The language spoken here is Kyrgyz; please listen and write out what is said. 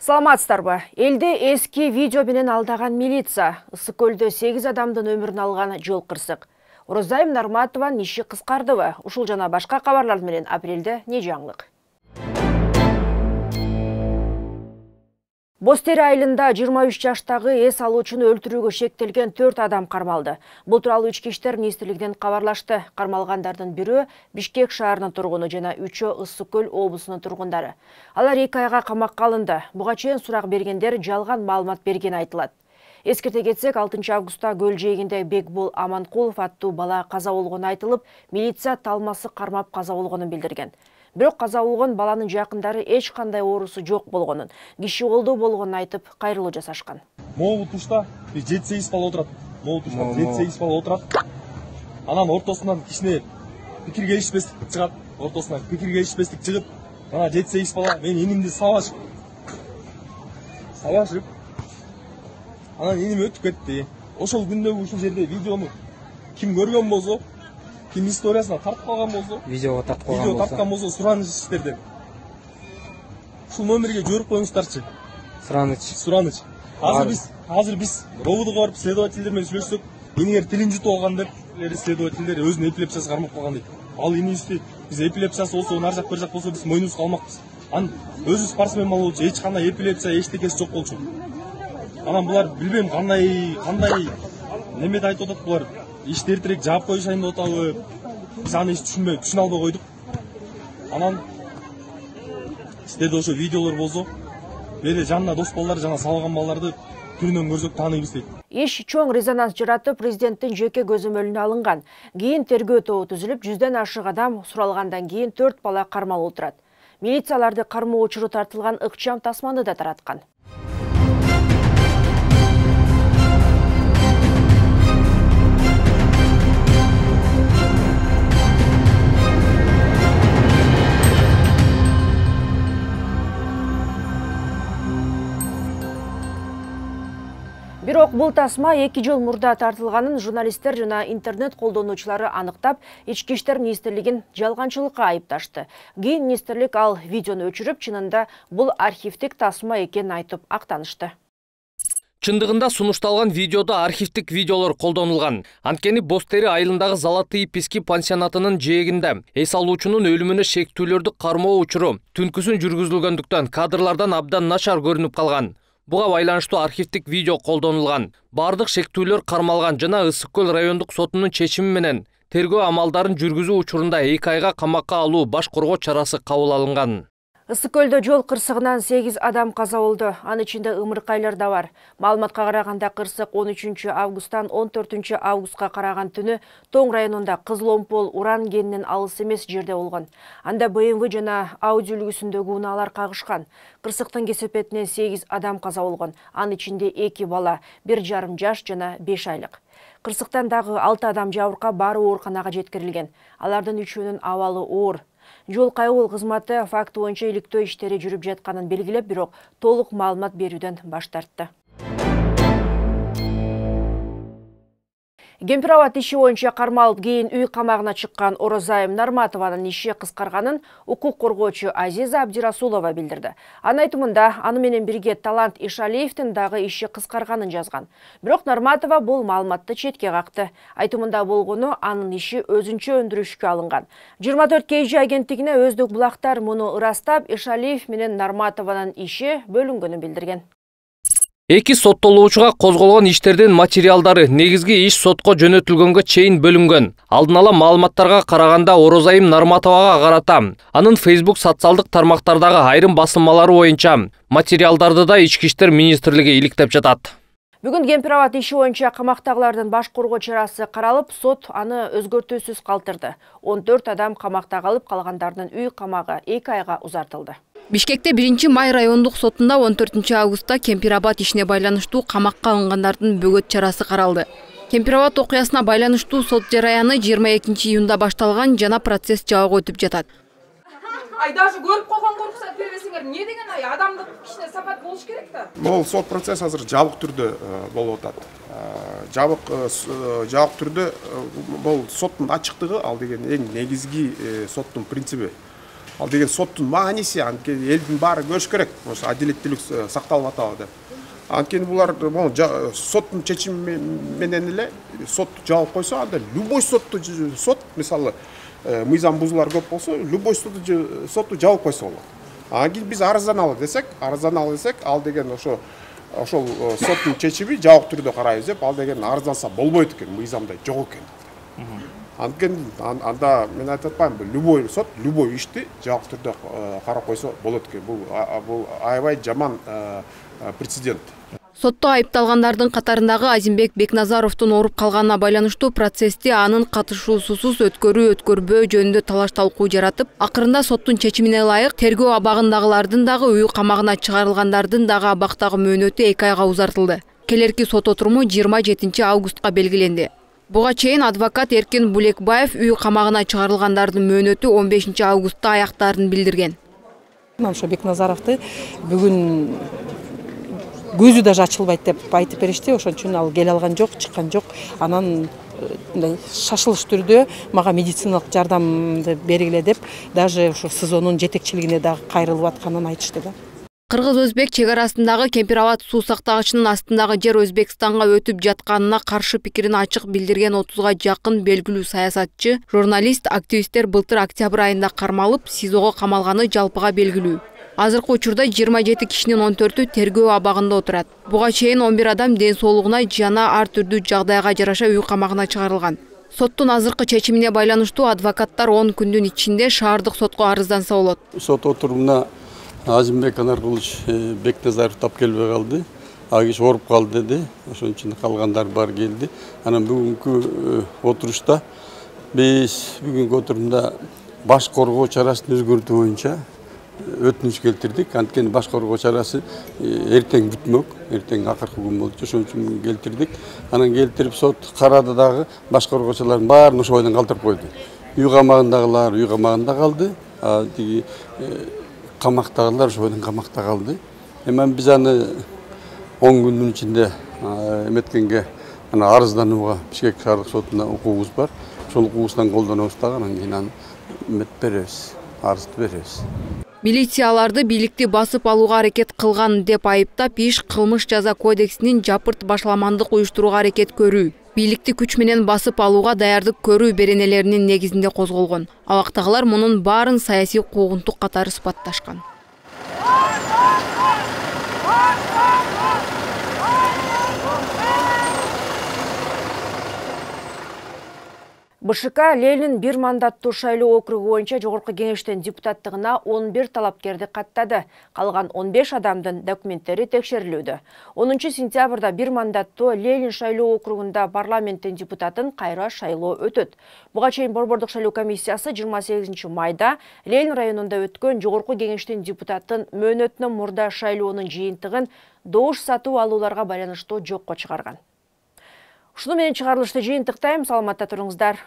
Саламатсыздарбы? Элде эски видео менен алдаган милиция, Ысык көлдө 8 адамдын өмүрүн алган жол кырсык. Орозайым Нарматованын иши кыскардыбы? Ушул жана башка кабарлар менен апрелде не жаңылык? Бостери айылында 23 жаштагы эс алуучуну өлтүрүүгө шектелген 4 адам кармалды. Бул тууралуу Ички иштер министрлигинен кабарлашты. Кармалгандардын бирөө Бишкек шаарынын тургуну жана 3-өө Ысык көл облусунун тургундары. Алар 2 айга камакка алынды. Буга чейин сурак бергендер жалган маалымат берген айтылат. Эскерте кетсек, 6 августта көл жээгинде Бекбол Аманкулов аттуу бала каза болгону айтылып, милиция талмасы кармап каза болгонун билдирген. Бирок каза болгон баланын жакындары эч кандай оорусу жок болгонун, киши колдоо болгонун айтып, кайрылуу жасашкан. Могу тушта 7-8 бала отурат. Могу тушта 7-8 бала отурат. Анан ортосунан кичине пикир келишпестик чыгат. Ортосунан пикир келишпестик чыгып, ана 7-8 бала мен инимди сабашып. Анан иним өтүп кетти. Ошол күндөгү ушул жерде видеону ким көргөн болсо, ким историясына тартып калган болсо, видеого тарткан болсо, сураныч иштерден. Ушул номерге жиберип коюңуздарчы. Сураныч. Азыр биз ровдго барып следовательдер менен сүйлөшсөк, инигер тилин жутуп алган деп следовательдер өзүнүн эпилепсиясы кармап калган дейт. Ал инибизди биз эпилепсиясы болсо, нар жак бер жак болсо биз мойнубузга алмакпыз. Анан өзү спортсмен болчу, эч кандай эпилепсия, эчтекеси жок болчу. Анан булар билбейм кандай немеде айтып атат булар. Ишти эртерээк жаап коюшайын деп атабы. Биз аны эч түшүнө албай койдук. Анан сиздерде ошо видеолор болсо, бери жанына дос балдар жана салган балдарды түрүнөн көрсөк тааныйбыз дейт. Иш чоң резонанс жаратып, президенттин жеке көзөмөлүнө алынган. Кийин тергөө тобу түзүлүп, 100ден ашык адам суралгандан кийин 4 бала кармалып отурат. Милицияларды кармоо учуру тартылган ыкчам тасманы да тараткан. Бирок бул тасма 2 жыл мурда тартылганын журналисттер жана интернет колдонуучулары аныктап, Ички иштер министрлигин жалганчылыкка айыпташты. Кийин министрлик ал видеону өчүрүп, чынында бул архивдик тасма экенин айтып актанышты. Чындыгында сунушталган видеодо архивдик видеолор колдонулган. Анткени Бостери айылындагы Золотые пески пансионатынын жээгинде эс алуучунун өлүмүнө шектүүлөрдү кармоо учуру түнкүсүн жүргүзүлгөндүктөн кадрлардан абдан начар көрүнүп калган. Буга байланыштуу архивдик видео колдонулган. Бардык шектүүлөр кармалган жана Ысык көл райондук сотунун чечими менен тергөө амалдарын жүргүзүү учурунда 2 айга камакка алуу баш коргоо чарасы кабыл алынган. Ысык көлдө жол кырсыгынан 8 адам каза болду. Анын ичинде ымыркайлар да бар. Маалыматка караганда кырсык 13 августтан 14 августка караган түнү Тоң районунда Кызыл Омпол уран кенинен алыс эмес жерде болгон. Анда БМВ жана Audi үлгүсүндөгү унаалар кагышкан. Кырсыктын кесепетинен 8 адам каза болгон. Анын ичинде 2 бала, 1,5 жаш жана 5 айлык. Кырсыктан дагы 6 адам жабыркап баары ооруканага жеткирилген. Алардын 3-өөнүн абалы оор. Жол кайгыл кызматы факты боюнча иликтөө иштери жүрүп жатканын белгилеп, бирок толук маалымат берүүдөн баш тартты. Кемпирабад иши боюнча кармалып, кийин үй камагына чыккан Орозайым Нарматованын иши кыскарганын укук коргоочу Азиза Абдирасулова билдирди. Анын айтымында, аны менен бирге Талант Ишалиевдин дагы иши кыскарганын жазган. Бирок Нарматова бул маалыматты четке какты. Айтымында болгону анын иши өзүнчө өндүрүшкө алынган. 24 KG агенттигине өздүк булактар муну ырастап, Ишалиев менен Нарматованын иши бөлүнгөнүн билдирген. Эки соттолуучуга козголгон иштердин материалдары негизги иш сотко жөнөтүлгөнгө чейин бөлүнгөн. Алдын ала маалыматтарга караганда Орозайым Нарматовага карата анын Facebook социалдык тармактардагы айрым басылмалары боюнча материалдарды да Ички иштер министрлиги иликтеп жатат. Бүгүн Кемпирабад иши боюнча камактагылардын баш коргоо чарасы каралып, сот аны өзгөртүүсүз калтырды. 14 адам камакта калып, калгандардын үй камагы 2 айга узартылды. Бишкекте 1-май райондук сотунда 14 августта Кемпирабад ишине байланыштуу камакка алынгандардын бөгөт чарасы каралды. Кемпирабад окуясына байланыштуу сот жараяны 22 июнда башталган жана процесс жабык өтүп жатат. Ай даже көрүп койгон руксат бербесеңер, эмне деген адамдык кичине сапат болуш керек да. Бул сот процесс азыр жабык түрдө болуп атат. Жабык түрдө бул соттун ачыктыгы ал деген эң негизги соттун принциби. Ал деген соттун мааниси, анткени элдин баары көрүш керек, ошо адилеттүүлүк сакталып атабы деп. Анткени булар соттун чечими менен эле сотту жаап койсо, анда любой сот мисалы мыйзам бузуулар көп болсо, любой сотту жаап койсо болот. Анан кийин биз арызданалы десек, ал деген ошол соттун чечими жабык түрдө карайбыз деп, ал деген арызданса болбойт экен, мыйзамда жок экен. Анткени анда мен айтып атпаймынбы, любой сот любой ишти жабык түрдө карап койсо болот экен. Бул аябай жаман прецедент. Сотто айыпталгандардын катарындагы Азимбек Бекназаровдун ооруп калганына байланыштуу процессти анын катышуусусуз өткөрбөө жөнүндө талаш талкуу жаратып, акырында соттун чечимине ылайык тергөө абагындагылардын дагы үй камагына чыгарылгандардын дагы абактагы мөөнөтү 2 айга узартылды. Келерки сот отуруму 27 августка белгиленди. Буга чейин адвокат Эркин Булекбаев үй камагына чыгарылгандардын мөөнөтү 15 августта аяктаарын билдирген. Ошо Бекназаровду бүгүн көзү даже ачылбайт деп айтып беришти. Ошон үчүн ал келе алган жок, чыккан жок. Анан шашылыш түрдө мага медициналык жардамды бергиле деп, даже ошо СИЗОнун жетекчилигине дагы кайрылып атканын айтышты да. Кыргыз-өзбек чек арасындагы Кемпирабад суу сактагычынын астындагы жер Өзбекстанга өтүп жатканына каршы пикирин ачык билдирген 30га жакын белгилүү саясатчы, журналист, активисттер былтыр октябрь айында кармалып, СИЗОго камалганы жалпыга белгилүү. Азыркы учурда 27 кишинин 14-ü тергөө абагында отурат. Буга чейин 11 адам ден соолугуна жана ар түрдүү жагдайга жараша үй камагына чыгарылган. Соттун азыркы чечимине байланыштуу адвокаттар 10 күндүн ичинде шаардык сотко арызданса болот. Сот отурумуна Азимбек Анаркулович Бекназаров тап келбей калды. Ал киши ооруп калды деди. Ошон үчүн калгандар бар келди. Анан бүгүнкү отурушта биз бүгүнкү отурумда баш коргоо чарасын өзгөртүү боюнча өтүнүч келтирдик. Анткени баш коргоо чарасы эртең бүтмөк, эртең акыркы күн болчу. Ошон үчүн келтирдик. Анан келтирип сот карады дагы баш коргоочулардын баарын ошо бойдон калтырып койду. Үй камагындагылар үй камагында калды. Тиги камактагылар ошо бойдон камакта калды. Эми биз аны 10 күндүн ичинде эметкенге арызданууга Бишкек шаардык сотуна укугубуз бар. Ошол укугубуздан колдонобуз дагы, анан кийин аны беребиз, арызды беребиз. Милицияларды бийликти басып алууга аракет кылган деп айыптап, иш кылмыш жаза кодексинин жапырт башламандык уюштурууга аракет көрүү, бийликти күч менен басып алууга даярдык көрүү беренелеринин негизинде козголгон. Абактагылар мунун баарын саясий куугунтук катары сыпатташкан. БШК Ленин бир мандаттуу шайлоо округу боюнча жогорку кеңештин депутаттыгына 11 талапкерди каттады. Калган 15 адамдын документтери текшерилүүдө. 10 сентябрда бир мандаттуу Ленин шайлоо округунда парламенттин депутатын кайра шайлоо өтөт. Буга чейин Борбордук шайлоо комиссиясы 28 майда Ленин районунда өткөн жогорку кеңештин депутатын мөөнөтүнөн мурда шайлоонун жыйынтыгын добуш сатып алууларга байланыштуу жокко чыгарган. Ушуну менен чыгарылышты жыйынтыктайм. Саламатта туруңуздар.